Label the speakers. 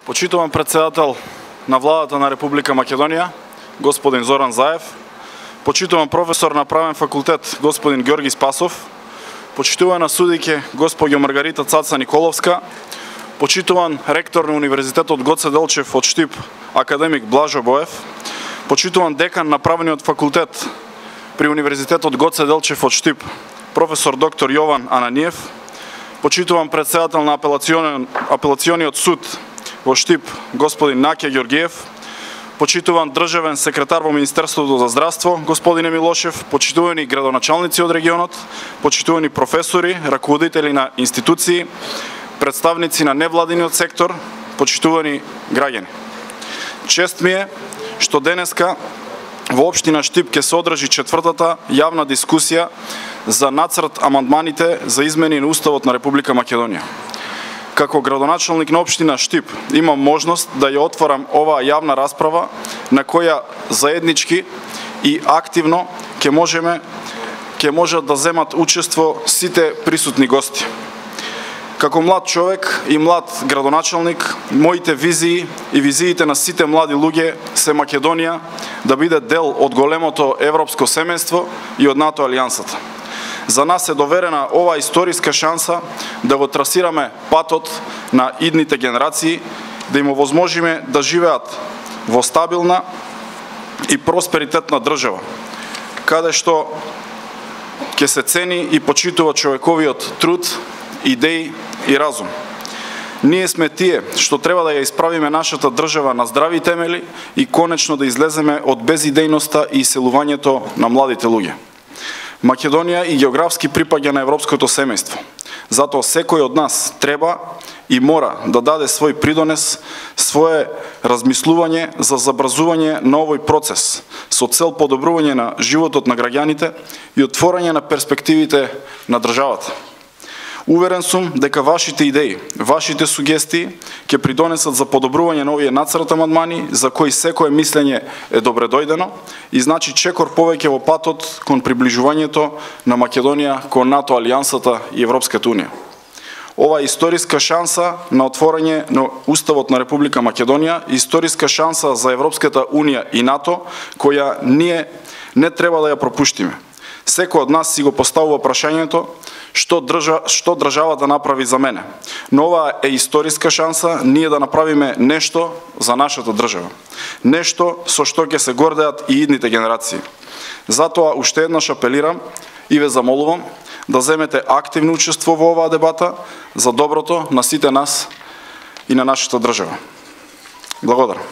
Speaker 1: Почитуван председател на владата на Република Македонија, господин Зоран Заев, почитуван професор на правен факултет, господин Георги Спасов, почитувана судике, госпоѓа Маргарита Цаца Николовска, почитуван ректор на Универзитетот Гоце Делчев од Штип, академик Блажо Боев, почитуван декан на правниот факултет при Универзитетот Гоце Делчев од Штип, професор доктор Јован Ананиев, почитуван председател на апелациониот суд во Штип, господин Наке Ѓоргиев, почитуван државен секретар во Министерството за здравство, господине Милошев, почитувани градоначалници од регионот, почитувани професори, раководители на институции, представници на невладиниот сектор, почитувани граѓани. Чест ми е што денеска во општина Штип ќе се одржи четвртата јавна дискусија за нацрт амандманите за измени на Уставот на Република Македонија. Како градоначалник на општина Штип имам можност да ја отворам оваа јавна расправа на која заеднички и активно ќе можат да земат учество сите присутни гости. Како млад човек и млад градоначалник, моите визии и визиите на сите млади луѓе се Македонија да биде дел од големото европско семејство и од НАТО алијансата. За нас е доверена оваа историска шанса да го трасираме патот на идните генерации, да им овозможиме да живеат во стабилна и просперитетна држава, каде што ќе се цени и почитува човековиот труд, идеи и разум. Ние сме тие што треба да ја исправиме нашата држава на здрави темели и конечно да излеземе од безидејноста и иселувањето на младите луѓе. Македонија и географски припаѓа на европското семејство. Затоа секој од нас треба и мора да даде свој придонес, свое размислување за забрзување на овој процес со цел подобрување на животот на граѓаните и отворање на перспективите на државата. Уверен сум дека вашите идеи, вашите сугестии ќе придонесат за подобрување на овие нацрт амандмани за кои секое мислење е добредојдено и значи чекор повеќе во патот кон приближувањето на Македонија кон НАТО алијансата и Европската унија. Ова е историска шанса на отворање на Уставот на Република Македонија, историска шанса за Европската унија и НАТО, која ние не треба да ја пропуштиме. Секој од нас си го поставува прашањето што државата направи за мене. Но ова е историска шанса ние да направиме нешто за нашата држава. Нешто со што ќе се гордеат и идните генерации. Затоа уште еднаш апелирам и ве замолувам да земете активно учество во оваа дебата за доброто на сите нас и на нашата држава. Благодарам.